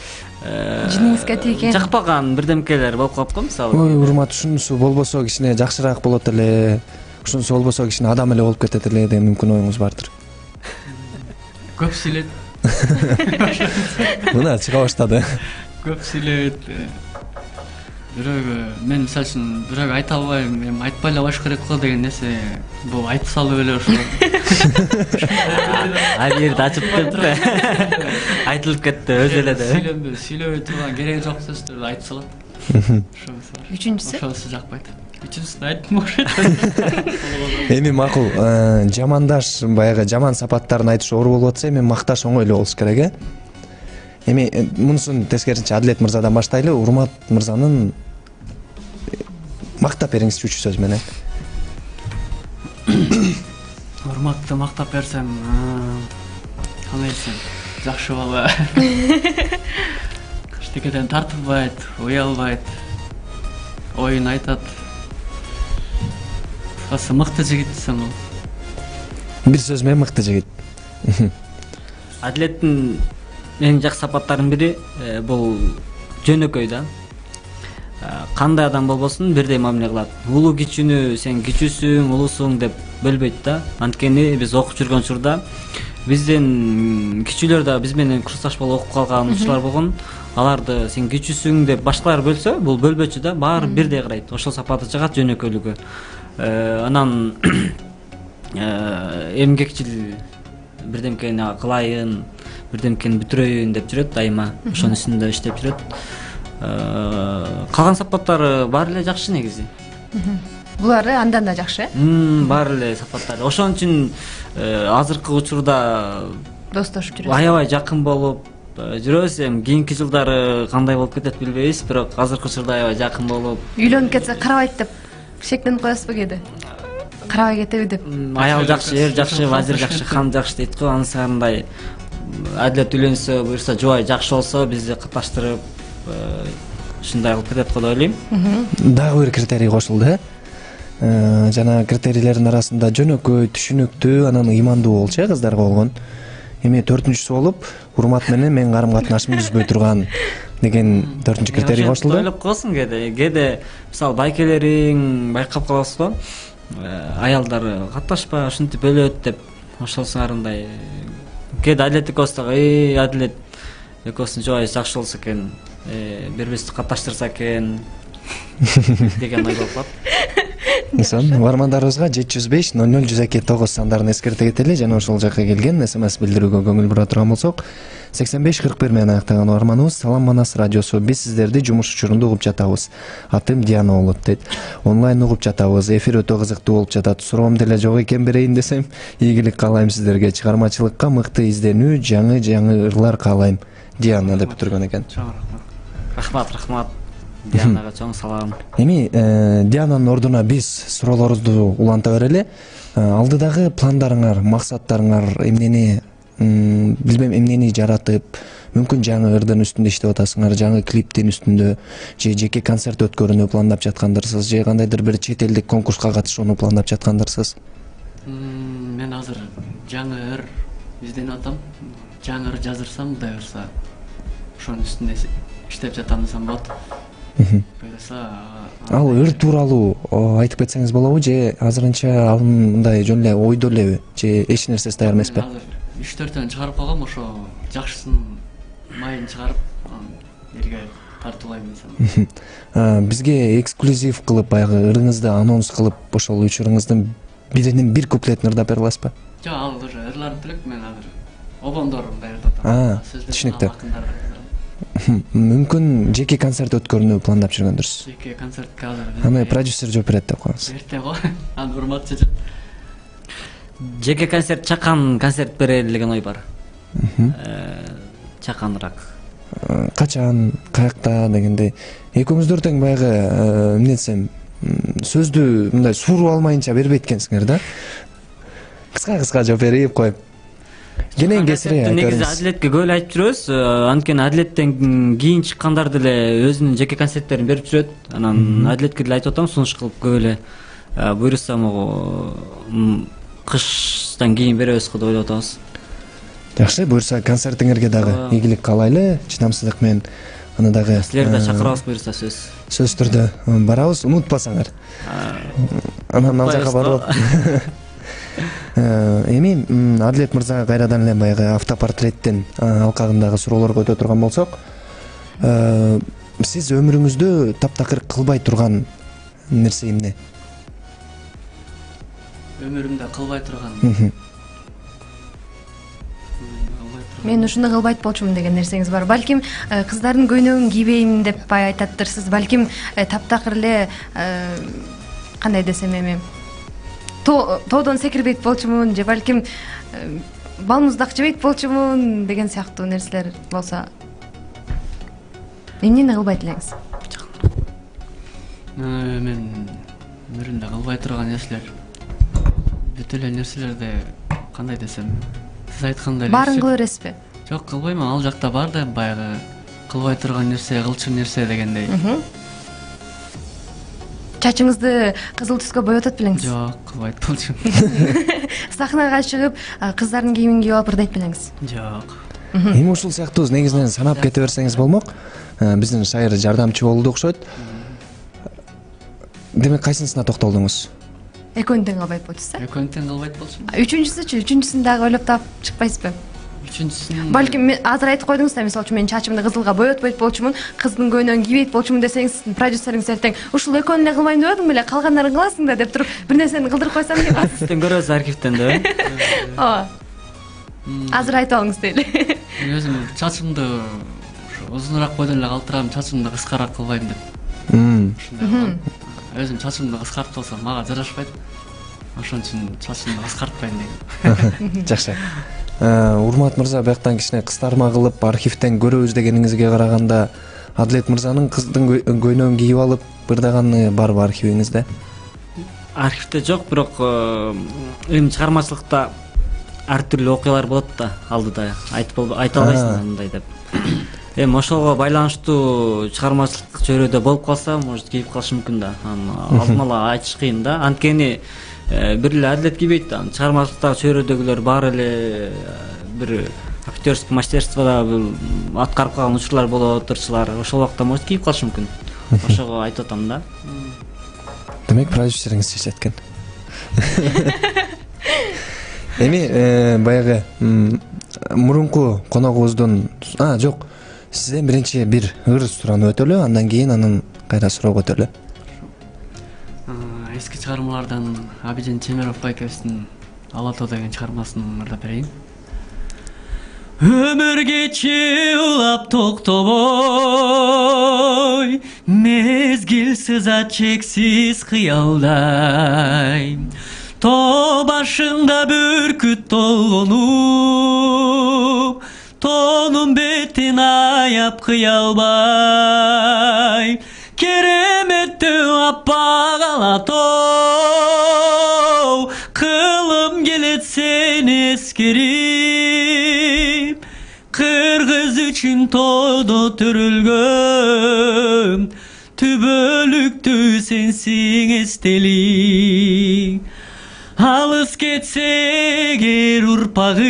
жиниңизге тийген жакпаган бирдемкелер болуп калып го, мисалы. Ой, Урмат, ушунусу болбосо кичине жакшыраак болот эле. Ушунусу болбосо кичине адам эле болуп кетет эле деген мүмкүн оюңуз бардыр. Көп сүйлөйт. Мына чыга баштады. Көп сүйлөйт. Бирөөгө мен мисалы үчүн бирөөгө айта албайм, эми айтпай эле коюш керек го деген нерсе бул айтып салып эле ошо. Ар жерде ачып кетти. Айтылып кетти өзү эле да. Сүйлөбөй турган кереги жок сөздөрдү айтып салат. Ошонусу бар. Үчүнчүсү? Ошонусу жакпайт. Үчүнчүсүн айттым окшойт. Эми макул, жамандаш, баягы жаман сапаттарын айтыш оор болуп атса, эми макташ оңой эле болуш керек, Эми мунусун тескерисинче Адилет мырзадан баштайлы. Урмат мырзанын мактап бериңизчи 3 сөз менен. Урматты мактап берсем, кандай десем, жакшы бала. Эчтекеден тартынбайт, уялбайт, оюн айтат. Кыскасы мыкты жигит десем болот. Бир сөз менен мыкты жигит. Адилеттин эң жакшы сапаттарынын бири бул жөнөкөй да. Кандай адам болбосун бирдей мамиле кылат. Улуу кичүүнү сен кичүүсүң, улуусуң деп бөлбөйт да. Анткени биз окуп жүргөн учурда бизден кичүүлөр да биз менен курсташ болуп окуп калган учурлар болгон. Аларды сен кичүүсүң деп башкалар бөлсө, бул бөлбөчү да, баары бирдей карайт. Ошол сапаты чыгат, жөнөкөйлүгү. Анан эмгекчил бирдемкени кылайын, бирдемкени бүтүрөйүн деп жүрөт дайыма. Ошонун үстүндө иштеп жүрөт. Калган сапаттары баары эле жакшы негизи. Булар андан да жакшы. Баары эле сапаттары. Ошон үчүн азыркы учурда Достошуп жүрөбүз. Аябай жакын болуп жүрөбүз. Эми кийинки жылдары кандай болуп кетет билбейбиз, бирок азыркы учурда аябай жакын болуп. Үйлөнүп кетсе карабайт деп шектенип коесузбу кээде? Карабай кетеби деп. Аял жакшы, эр жакшы, вазир жакшы, хан жакшы дейт го. Ансандай Адилет үйлөнсө, буюрса жубай жакшы болсо, бизди катташтырып ушундай кылып кетет го деп ойлойм. Дагы бир критерий кошулду, жана критерийлердин арасында жөнөкөй, түшүнүктүү, анан ыймандуу болчу, кыздарга болгон. Эми 4-үнчүсү болуп, урмат менен мен карым-катнашымды үзбөй турган деген 4-үнчү критерий кошулду. Ойлоп коесуң кээде мисалы байкелериң байкап каласыз го. Аялдар катташпа, ушинтип бөлөт деп ошолсуңар мындай. Кээде Адилет экөөбүз дагы, Адилет экөөбүздүн жубайыбыз жакшы болсо экен, бири-бирибизди катташтырса экен деген ой болуп калат. Сон, бармандарыбызга 705-00-102-9 сандарын эскерте кетели жана ошол жакка келген SMS билдирүүгө көңүл бура турган болсок, 85-41 менен аяктаган барманыбыз Салам Манас радиосу. Биз сиздерди жумуш учурунда угуп жатабыз. Атым Диана болот дейт. Онлайн угуп жатабыз. Эфир өтө кызыктуу болуп жатат. Суроом деле жок экен, берейин десем, ийгилик каалайм сиздерге. Чыгармачылыкка мыкты изденүү, жаңы ырлар каалайм. Диана деп бүтүргөн экен. Рахмат. Дианага чоң салам. Эми Диананын ордуна биз суроолорубузду уланта берели. Алдыдагы пландарыңар, максаттарыңар эмнени, билбейм, эмнени жаратып, мүмкүн жаңы ырдын үстүндө иштеп атасыңар, жаңы клиптин үстүндө, же жеке концерт өткөрүүнү пландап жаткандырсыз, же кандайдыр бир чет элдик конкурска катышууну пландап жаткандырсыз? Мен азыр жаңы ыр изденип атам. Жаңы ыр жаздырсам, Кудай буюрса, ошонун үстүндө иштеп жатам десем болот. Буюрса, Ал ыр тууралуу айтып кетсеңиз болобу, же азырынча ал мындай жөн эле ойдо элеби, же эч нерсеси даяр эмеспи? азыр 3-4 чыгарып койгом, ошо жакшысын майын чыгарып, элге тартуулайм десем. Бизге эксклюзив кылып, баягы ырыңызды анонс кылып, ошол 3 ырыңыздын биринин бир куплетин ырдап бере аласызбы? Жок, ал уже ырларын тилек, мен азыр обондорун даярдап атам. Түшүнүктүү. Мүмкүн жеке концерт өткөрүүнү пландап жүргөндүрсүз. Жеке концертке азыр. Аны продюсер жооп берет деп коебуз. Эрте го, аны урмат чечет. Жеке концерт, чакан концерт берели деген ой бар. Чаканыраак. Качан, каякта дегендей. Экөөңүздөр тең баягы эмне десем, сөздү мындай сууруу алмайынча бербейт экенсиңер да. Кыска жооп берип коюп. Кенен кесири негизи Адилетке көп эле айтып жүрөбүз. Анткени Адилеттен кийин чыккандар деле өзүнүн жеке концерттерин берип жүрөт. Анан Адилетке деле айтып атам, сунуш кылып көп эле буюрса могу кыштан кийин беребиз го деп ойлоп атабыз. Жакшы, буюрса концертиңерге дагы ийгилик каалайлы, чыдамсыздык менен аны дагы силерди да чакырабыз буюрса сөз. Сөзсүз түрдө барабыз, унутпасаңар. Анан ал жака барып. Эми Адилет мырзага кайрадан эле баягы автопортреттин алкагындагы суроолорго өтө турган болсок, сиз өмүрүңүздө таптакыр кылбай турган нерсе эмне? Өмүрүмдө кылбай турган. Мен ушуну кылбайт болчумун деген нерсеңиз бар. Балким кыздардын көйнөгүн кийбейм деп айтаттырсыз. Балким таптакыр эле кандай десем эми тоодон секирбейт болчумун, же балким балмуздак жебейт болчумун деген сыяктуу нерселер болсо эмнени кылбайт элеңиз? Мен өмүрүмдө кылбай турган нерселер бүт эле нерселерди кандай десем, сиз айткандай баарын кыла бересизби? Жок, кылбайм, ал жакта бар да баягы кылбай турган нерсе, кылчым нерсе дегендей. Чачыңызды кызыл түскө боеп атат белеңиз? Жок, кылбайт болчумун. Сахнага чыгып кыздардын кийимин кийип алып ырдайт белеңиз? Жок. Эми ушул сыяктуу негизинен санап кете берсеңиз болмок. Биздин шайыр жардамчы болду окшойт. Демек кайсынысына токтолдуңуз? Экөөнү тең кылбайт болчусу. Экөөнү тең кылбайт болчумун. Үчүнчүсүн дагы ойлоп таап чыкпайсызбы? Үчүнчүсүн Балким азыр айтып койдуңуз да, мисалы үчүн мен чачымды кызылга боетпойт болчумун, кыздын көйнөгүн кийбейт болчумун десеңиз, продюсериңиз эртең ушул экөөнү эле кылбайм деп атам беле, калгандарын кыласың да деп туруп, бир нерсени кылдырып койсом деп атасыз. Сизден көрөбүз архивден деп. Ооба. Азыр айтып алыңыз дейли. Мен өзүм чачымды узунураак бойдон эле калтырам, чачымды кыскараак кылбайм деп. Ушундай. Өзүм чачымды кыскартып алсам мага жарашпайт. Ошон үчүн чачымды кыскартпайм деген. Жакшы. Урмат мырза, бияктан кичине кыстарма кылып архивден көрөбүз дегениңизге караганда, Адилет мырзанын кыздын көйнөгүн кийип алып ырдаганы барбы архивиңизде? Архивде жок, бирок эми чыгармачылыкта ар түрдүү окуялар болот да, алдыда айта албайсың андай деп. Эми ошого байланыштуу чыгармачылык чөйрөдө болуп калса, может кийип калышы мүмкүн да. Алдын ала айтыш кыйын да. Анткени бир эле Адилет кийбейт да. Чыгармачылыктагы чөйрөдөгүлөр баары эле бир актерский мастерстводо аткарып калган учурлар болот, ырчылар. Ошол убакта может кийип калышы мүмкүн. Ошого айтып атам да. Демек продюсериңиз чечет экен. Эми баягы мурунку коногубуздун жок, сизден биринчи бир ыр суранып өтөлү, андан кийин анын кайра суроого өтөлү. Эски чыгармалардан Абидин Чемеров байкебиздин Ала тоо деген чыгармасын ырдап берейин. Өмүр кечи улап токтобой, мезгил сызат чексиз кыялдай. Тоо башында бүркүт толгонуп, тоонун бетин аяп кыя албай. кереметтүү аппак ала тоо, кылым келет сени эскерип, кыргыз үчүн тоодо төрөлгөн, түбөлүктүү сенсиң эстелик. Алыс кетсе эгер урпагым,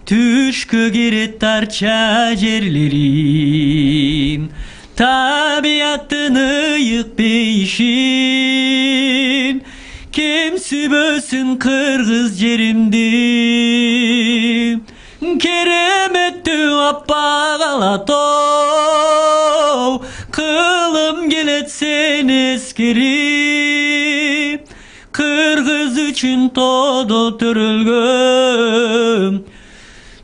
түшкө кирет тарча жерлерим, табияттын ыйык бейишин, кем сүбөсүн кыргыз жеримди. Кереметтүү аппак ала тоо, кылым келет сени эскерип, кыргыз үчүн тоодо төрөлгөн,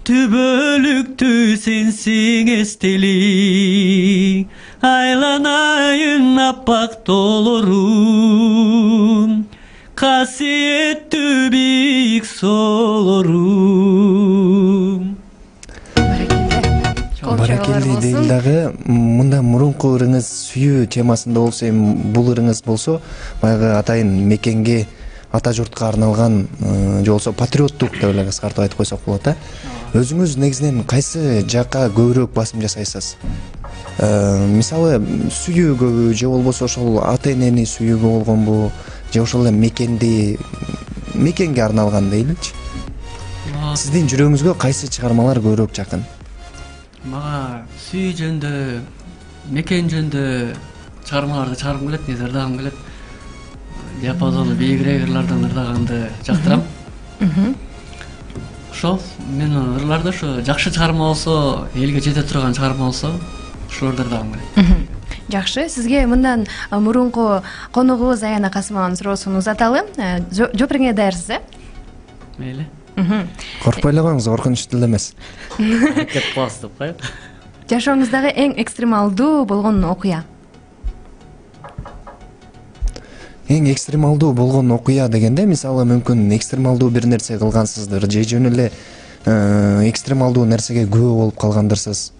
түбөлүктүү сенсиң эстелик. Айланайын аппак тоолорум, касиеттүү бийик соолорум. Баракелде дейм дагы. Мында мурунку ырыңыз сүйүү темасында болсо, эми бул ырыңыз болсо баягы атайын мекенге, ата журтка арналган же болбосо патриоттук деп эле кыскартып айтып койсок болот да. Өзүңүз негизинен кайсы жакка көбүрөөк басым жасайсыз? Мисалы сүйүүгөбү же болбосо ошол ата энени сүйүүгө болгонбу, же ошол эле мекенге арналган дейличи? Сиздин жүрөгүңүзгө кайсы чыгармалар көбүрөөк жакын? Мага сүйүү жөнүндө, мекен жөнүндө чыгармаларды чыгаргым келет, ырдагым келет. Диапазону бийигирээк ырлардан ырдаганды жактырам. Ошол мен ырларда ошо жакшы чыгарма болсо, элге жете турган чыгарма болсо, ошолорду ырдагым келет. Жакшы, сизге мындан мурунку конугубуз Аяна Касымованын суроосун узаталы. Жооп берүүгө даярсыз, Мейли. Коркпой эле коюңуз, коркунучтуу эле эмес. Аракет кыласыз деп коет. Жашооңуздагы эң экстремалдуу болгон окуя? Эң экстремалдуу болгон окуя дегенде, мисалы мүмкүн экстремалдуу бир нерсе кылгансыздыр, же жөн эле экстремалдуу нерсеге күбө болуп калгандырсыз.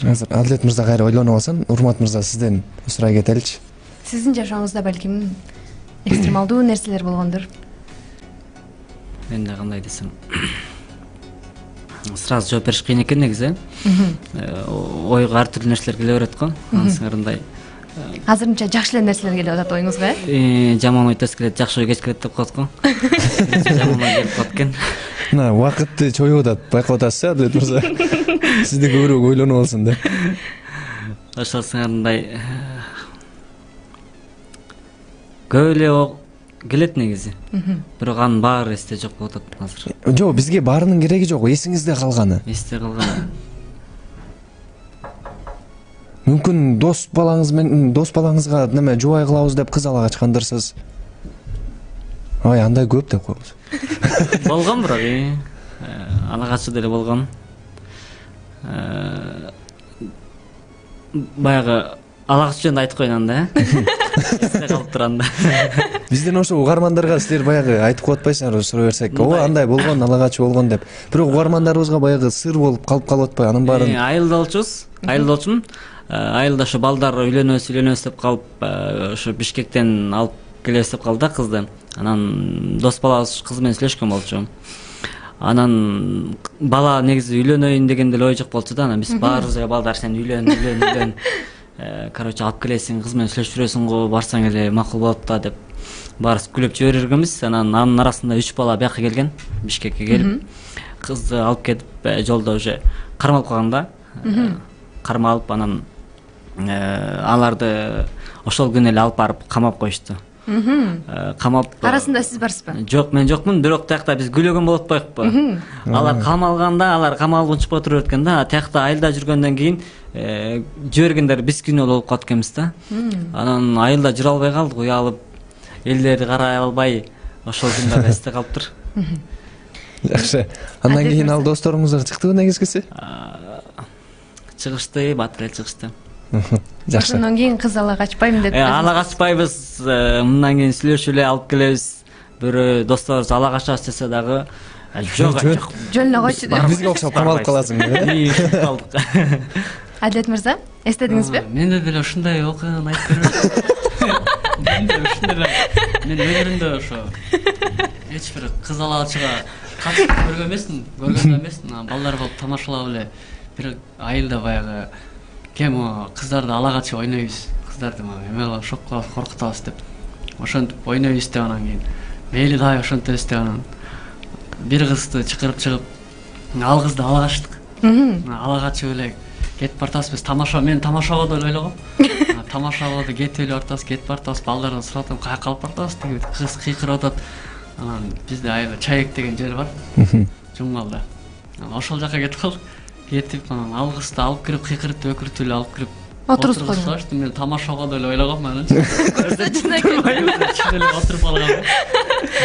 Азыр Адилет мырза кайра ойлонуп алсын. Урмат мырза, сизден сурай кетеличи. Сиздин жашооңузда балким экстремалдуу нерселер болгондур. Мен да кандай десем, сразу жооп бериш кыйын экен негизи. Ойго ар түрдүү нерселер келе берет го. Ансыңарындай. Азырынча жакшы эле нерселер келип атат оюңузга, Жаман ой тез келет, жакшы ой кеч келет деп коет го. Жаман ой келип калат экен. Мына убакытты чоюп атат, байкап атасыз, Адилет мырза. Сизде көбүрөөк ойлонуп алсын да. Ошол сыңарындай көп эле келет негизи. Бирок анын баары эсте жок болуп атат азыр. Жок, бизге баарынын кереги жок, эсиңизде калганы. Эсте калган. Мүмкүн дос балаңызга неме жубай кылабыз деп кыз ала качкандырсыз. Ой, андай көп деп коебуз. Болгон бирок, ала качуу деле болгон. Баягы ала качуу жөнүндө айтып коеюн анда, эсте калып турганда. Бизден ошо угармандарга силер баягы айтып коюп атпайсыңарбы, сурай берсек, оо андай болгон, ала качуу болгон деп. Бирок угармандарыбызга баягы сыр болуп калып атпайбы анын баарын? Айылда болчумун. Айылда ошо балдар үйлөнөбүз деп калып, ошо Бишкектен алып келебиз деп калды да кызды. Анан дос балабыз кыз менен сүйлөшкөн болчу. Анан бала негизи үйлөнөйүн деген деле ой жок болчу да. Анан биз баарыбыз эле балдар сен үйлөн. Короче, алып келесиң, кыз менен сүйлөшүп жүрөсүң го, барсаң эле макул болот да деп баарыбыз күлүп жибергенбиз. Анан анын арасында 3 бала бияка келген, Бишкекке келип, кызды алып кетип, жолдо уже кармалып калган да. Кармалып, анан аларды ошол күнү эле алып барып камап коюшту. Камап. Арасында сиз барсызбы? Жок, мен жокмун, бирок тиякта биз күлөгөн болуп атпайыкпы? Алар камалганда, алар камалып унчуп отуруп экен да, тиякта айылда жүргөндөн кийин жибергендер биз күнөө болуп калат экенбиз да. Анан айылда жүрө албай калдык, уялып, элдерди карай албай, ошол күн дагы эсте калыптыр. Жакшы. Андан кийин ал досторуңуздар чыктыбы негизгиси? Чыгышты, батыр эле чыгышты. Жакшы. Ошондон кийин кыз ала качпайм деп. Ала качпайбыз, мындан кийин сүйлөшүп эле алып келебиз. Бирөө досторубуз ала качабыз десе дагы, Жок. жөнүнө койчу деп. Бизге окшоп камалып каласың. Калдык. Адилет мырза, эстедиңизби? Менде деле ушундай окуяны айтып бербейм. Менде ушундай эле. Мен өмүрүмдө ошо эч бир кыз алгачыга катышып көргөн эмесмин. Балдар болуп тамашалап эле бир айылда баягы кем кыздарды ала качып ойнойбуз. Кыздарды эме шок кылып коркутабыз деп. Ошентип ойнойбуз деп анан кийин мейли дагы ошентебиз деп анан бир кызды чакырып чыгып ал кызды ала качтык. Ала качып эле кетип бартабыз. Биз мен тамашага деп ойлогом. Тамашага деп кетип эле бартабыз, кетип бартабыз. Балдардан сурап атам, каяка алып бартабыз деген. Кыз кыйкырып атат. Анан бизде айылда Чайек деген жер бар. Жумгалда. Ошол жака кетип калдык. Кетип анан ал кызды алып кирип кыйкырып өкүрүп эле алып кирип отургузуп. Мен тамашага деп ойлогом анан. Отуруп калгам.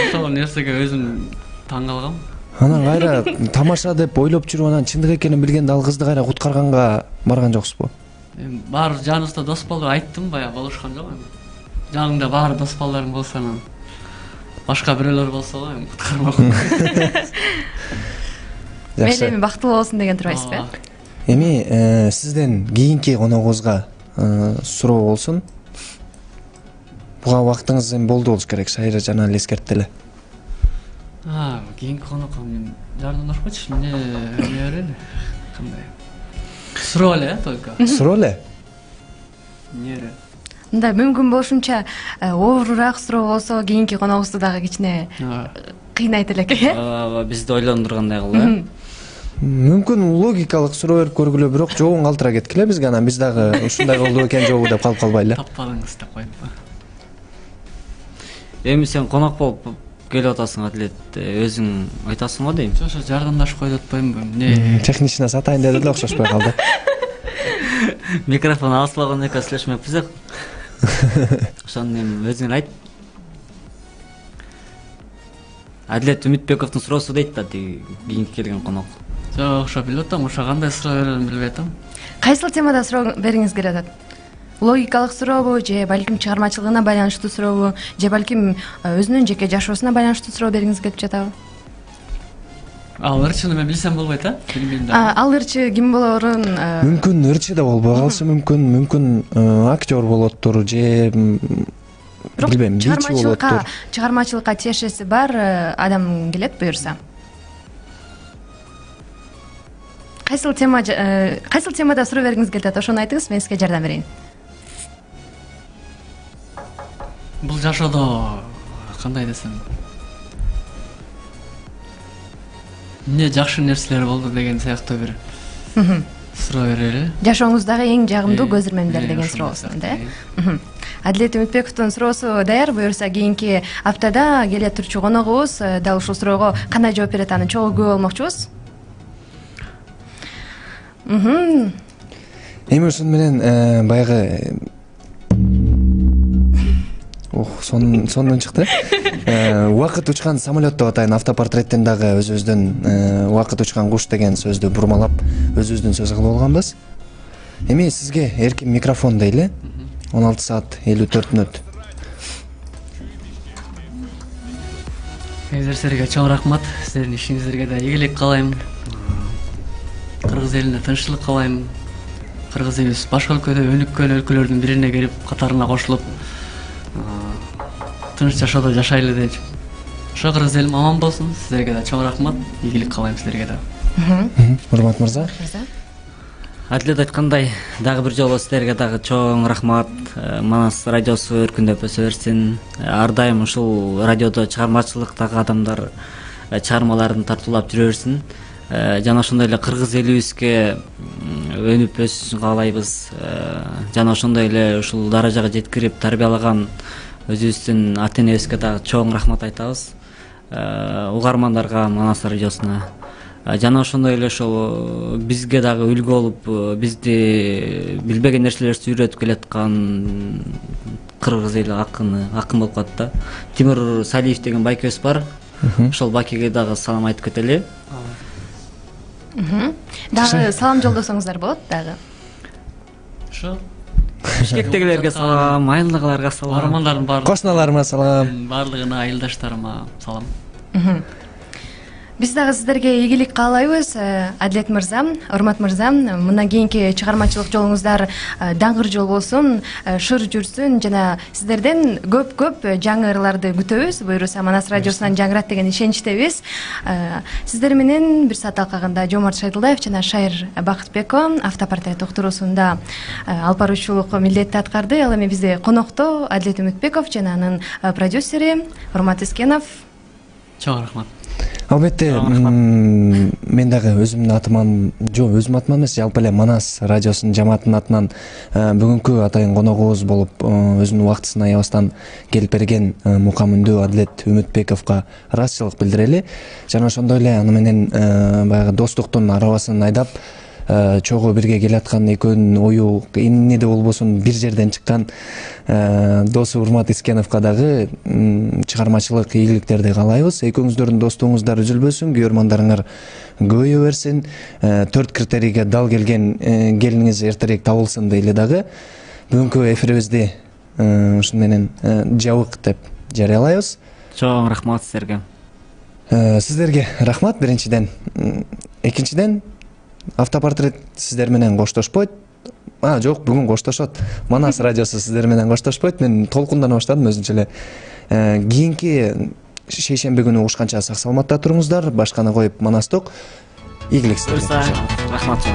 Ошол нерсеге өзүм таң калгам. Анан кайра тамаша деп ойлоп жүрүп анан чындык экенин билгенде ал кызды кайра куткарганга барган жоксузбу? Баары жаныбызда дос болду, айттым баягы болушкан жок. Жаныңда баары дос балдарың болсо анан башка бирөөлөр болсо го куткармакмын. Мен эми бактылуу болсун деген турбайсызбы? Эми сизден кийинки коногубузга суроо болсун. Буга убактыңыз эми болду болуш керек, Шайыр жана эле эскертти эле. Кийинки конокко мен жардамдашпачы, эмне берели? Кандай? Суроо эле, только. Суроо эле? Эмне? Мындай мүмкүн болушунча оорураак суроо болсо кийинки коногубузду дагы кичине кыйнайт элек, э? Бизди ойлондургандай кылып, Мүмкүн логикалык суроо берип көргүлө, бирок жообун калтыра кеткиле бизге, анан биз дагы ушундай болду экен жобу деп калып калбайлы. Таппадыңыз деп коюп. Эми сен конок болуп келип атасың, Адилет, өзүң айтасың го дейм. Ошо жардамдашып коюп атпаймынбы? Эмне? Техничный сатайын деди эле, окшошпой калды. Микрофон алсылаган экен, сүйлөшмөкпүз. Ошону эми өзүң айт. Адилет Үмүтбековдун суроосу дейт да, кийинки келген конок. Жок, ошо билип атам, ошо кандай суроо берерин билбей атам. Кайсыл темада суроо бергиңиз келип атат? Логикалык сурообу же балким чыгармачылыгына байланыштуу сурообу же балким өзүнүн жеке жашоосуна байланыштуу суроо бергиңиз келип жатабы? Ал ырчыны мен билсем болбойт, а? Билбейм да. Ал ырчы ким болорун? Мүмкүн ырчы да болбой калышы мүмкүн актер болоттур же билбейм, бичи болоттур. Чыгармачылыкка тиешеси бар адам келет буюрса. Кайсыл темада суроо бергиңиз келип атат? Ошону айтыңыз, мен сизге жардам берейин. Бул жашоодо кандай десем, эмне жакшы нерселер болду деген сыяктуу бир суроо берели. Жашооңуздагы эң жагымдуу көзөрмөндөр деген суроо болсун, да? Адилет Үмүтбековдун суроосу даяр, буюрса кийинки аптада келе турчу коногубуз дал ушул суроого кандай жооп берет, аны чогуу күбө болмокчубуз. Эми ушуну менен баягы сонун чыкты. Убакыт учкан самолет деп атайын, автопортреттен дагы өзүбүздүн убакыт учкан куш деген сөздү бурмалап өзүбүздүн сөз кылып алганбыз. Эми сизге эркин микрофон дейли. 16 саат 54 мүнөт. Силерге чоң рахмат. Сиздердин ишиңиздерге да ийгилик каалайм. Кыргыз элине тынччылык каалайм. Кыргыз элибиз башка өлкөдө өнүккөн өлкөлөрдүн бирине кирип, катарына кошулуп, тынч жашоодо жашайлы деп. Ошо кыргыз элим аман болсун. Сиздерге да чоң рахмат. Ийгилик каалайм сиздерге да. Урмат мырза. Адилет айткандай, дагы бир жолу сиздерге дагы чоң рахмат. Манас радиосу өркүндөп өсө берсин. Ар дайым ушул радиодо чыгармачылыктагы адамдар чыгармаларын тартуулап жүрө берсин. Жана ошондой эле кыргыз элибизге өнүп өссүн каалайбыз. Жана ошондой эле ушул даражага жеткирип тарбиялаган өзүбүздүн ата-энебизге дагы чоң рахмат айтабыз. Угармандарга, Манас радиосуна. Жана ошондой эле ошол бизге дагы үлгү болуп, бизди билбеген нерселерди үйрөтүп келаткан кыргыз эли акын болуп калат да. Тимур Салиев деген байкебиз бар. Ошол байкеге дагы салам айтып кетели. Дагы салам жолдосоңуздар болот дагы. Ошо Бишкектегилерге салам, айылдагыларга салам, армандардын баардыгына, кошуналарыма салам, баардыгына, айылдаштарыма салам. Биз дагы сиздерге ийгилик каалайбыз, Адилет мырза, Урмат мырза. Мындан кийинки чыгармачылык жолуңуздар даңгыр жол болсун, шыр жүрсүн жана сиздерден көп жаңы ырларды күтөбүз. Буюрса Манас радиосунан жаңырат деген ишеничтебиз. Сиздер менен бир саат талкаганда Жомарт Шайдылдаев жана Шайыр Бакытбекова автопортрет уктуруусунда алып баруучулук милдетти аткарды. Ал эми бизде конокто Адилет Үмүтбеков жана анын продюсери Урмат Искенов. Чоң рахмат. Албетте, мен дагы өзүмдүн атыман, өзүмдүн атыман эмес, жалпы эле Манас радиосунун жамаатынын атынан бүгүнкү атайын коногубуз болуп, өзүнүн убактысын аябастан келип берген мукамүндүү Адилет Үмүтбековго ыраазычылык билдирели. Жана ошондой эле аны менен баягы достуктун арабасын айдап, чогуу бирге келаткан экөөнүн ою эмнеде болбосун бир жерден чыккан досу Урмат Искеновго дагы чыгармачылык ийгиликтерди каалайбыз. Экөөңүздөрдүн достугуңуздар үзүлбөсүн, күйөрмандарыңар көбөйө берсин, 4 критерийге дал келген келиниңиз эртерээк табылсын дейли дагы. Бүгүнкү эфирибизди ушуну менен жабык деп жарыялайбыз. Чоң рахмат сиздерге. Сиздерге рахмат биринчиден. Экинчиден, автопортрет сиздер менен коштошпойт. Жок, бүгүн коштошот. Манас радиосу сиздер менен коштошпойт. Мен толкундана баштадым өзүнчө эле. Кийинки шейшемби күнү угушканча сак саламатта туруңуздар. Башканы коюп Манастык. Ийгилик сиздерге. Рахмат.